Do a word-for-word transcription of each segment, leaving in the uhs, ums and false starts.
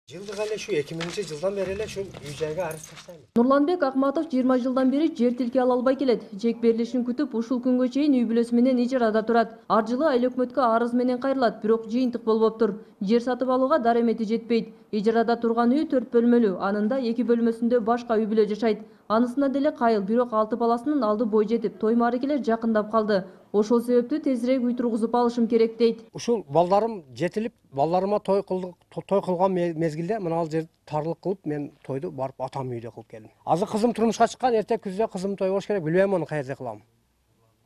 Жылдык эле ушу эки миңинчи жылдан бери эле ушу үй жайга арыз таштайм. Нурланбек Акматов жыйырма жылдан бери жер тилке ала албай келет. Жек берилишин күтүп, ушул күнгө чейин үй бүлөсү менен ижарада турат. Ар жылы айыл өкмөткө арыз менен кайрылат, бирок жыйынтык болбоптур. Жер сатып алууга даремети жетпейт. Ижарада турган үй төрт бөлмөлүү, анында эки бөлмөсүндө башка үй бүлө жашайт. Анысына деле кайыл, бирок алты баласынын алды бой жетип, той мааракелер жакындап калды. Ошол себептүү тезирээк үй тургузуп алышым керек дейт. Ушул балдарым жетилип, балдарыма той кылдык, той кылган мезгилде мына ал жер тарлык кылып, мен тойду барып атам үйдө кылып келдим. Азыр кызым турмушка чыккан, эртең күздө кызым той болуш керек, билбейм аны каерде кылам.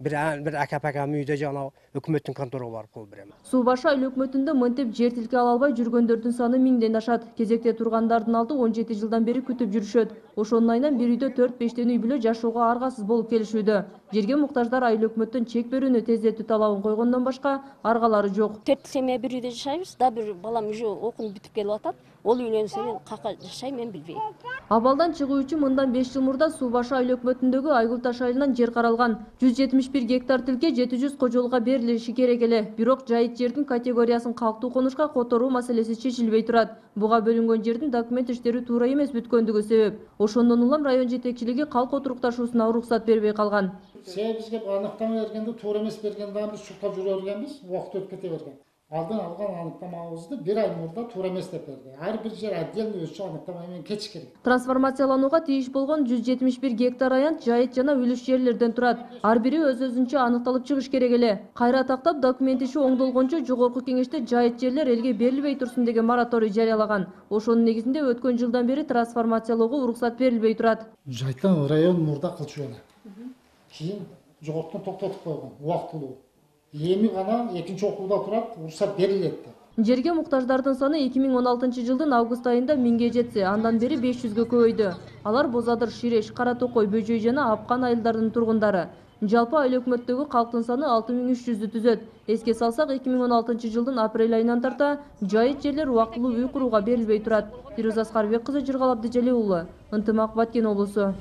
Бир бир ака-пакам үйдө жана өкмөттүн конторага барып кылып берем. Суу башы айыл өкмөтүндө мынтип жер тилке ала албай жүргөндөрдүн саны миңден ашат. Кезекте тургандардын алды он жети жылдан бери күтүп жүрүшөт. Ошонун айынан бир үйдө төрт бештен үй бүлө жашоого аргасыз болуп келишүүдө. Жерге муктаждар айыл өкмөттөн чек берүүнү тездетүү талабын койгондон башка аргалары жок. Төрт семья бир үйдө жашайбыз. Да бир балам уже окуп бүтүп келип атат. Ол үйлөнсө мен кака жашайм, мен билбейм. Абалдан чыгуу үчүн мындан беш жыл мурда Суу башы айыл өкмөтүндөгү Айгул таш айылынан жер каралган. жүз жетимиш бир гектар тилке жети жүз кожолугга берилиши керек эле. Бирок жайыт жердин категориясын калктуу конушка которуу маселеси чечилбей турат. Буга бөлүнгөн жердин документ иштери туура эмес бүткөндүгү себеп. Ошондон улам район жетекчилиги калк отурукташуусуна уруксат бербей калган. Себеби бизге аныктама бергенде туура эмес берген дагы биз шуркап жүрө бергенбиз, убакыт өтүп кете берген. Алдын алган аныктамабызды бир ай мурда туура эмес деп берди. Ар бир жер отдельный өзүнчө аныктама менен кетиш керек. Трансформацияланууга тийиш болгон жүз жетимиш бир гектар аянт жайыт жана үлүш жерлерден турат. Ар бири өз-өзүнчө аныкталып чыгыш керек эле. Кайра тактап документ иши оңдолгончо жогорку кеңеште жайыт жерлер элге берилбей турсун деген мораторий жарыялаган. Ошонун негизинде өткөн жылдан бери трансформациялоого уруксат берилбей турат. Жайыттан район мурда кылчу эле. Кийин жогоркутан токтотуп койгон, убактылуу. Эми гана экинчи окууда турат, уруксат берилет деп. Жерге муктаждардын саны эки миң он алтынчы жылдын август айында миңге жетсе, андан бери беш жүзгө көбөйдү. Алар Бозадыр, Ширеш, Кара Токой, Бөжөй жана Апкан айылдарынын тургундары. Жалпы айыл өкмөттөгү калктын саны алты миң үч жүздү түзөт. Эске салсак, эки миң он алтынчы жылдын апрель айынан тарта жайыт жерлер убактылуу үй курууга берилбей турат. Фируза Аскарбек кызы, Жыргал Абдыжалил уулу, Ынтымак, Баткен облусу.